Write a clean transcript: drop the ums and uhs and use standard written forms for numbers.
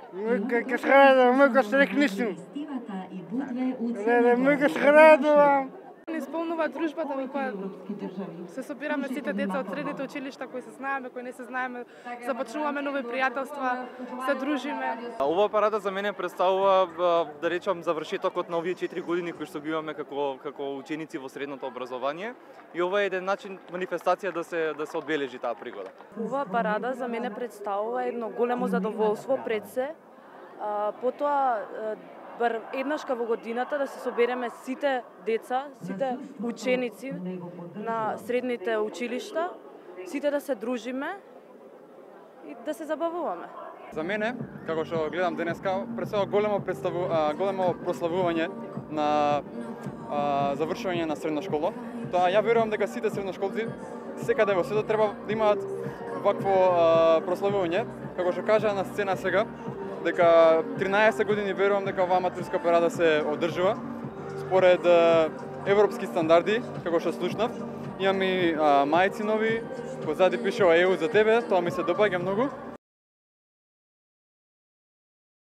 Ке сграда, мојка стрекнису. Мојка сграда. Исполнува дружбата во која се собираме сите деца од средните училишта кои се знаеме, кои не се знаеме, започнуваме нови пријателства, се дружиме. Оваа парада за мене представува, да речам, завршетокот на овие 4 години кои што ги имаме како ученици во средното образование, и ова е еден начин, манифестација да се одбележи таа пригода. Оваа парада за мене представува едно големо задоволство пред се, потоа бар еднашка во годината да се собереме сите деца, сите ученици на средните училишта, сите да се дружиме и да се забавуваме. За мене, како што гледам денеска, представува големо прославување на завршување на средна школа. Тоа ја верувам дека сите средношколци секаде во светот треба да имаат вакво прославување, како што кажа на сцена сега, дека 13 години верувам дека оваа матурска парада се одржува според европски стандарди, како што слушнав. Имам и мајци нови, позади пишува ЕУ за тебе, тоа ми се допаѓа многу.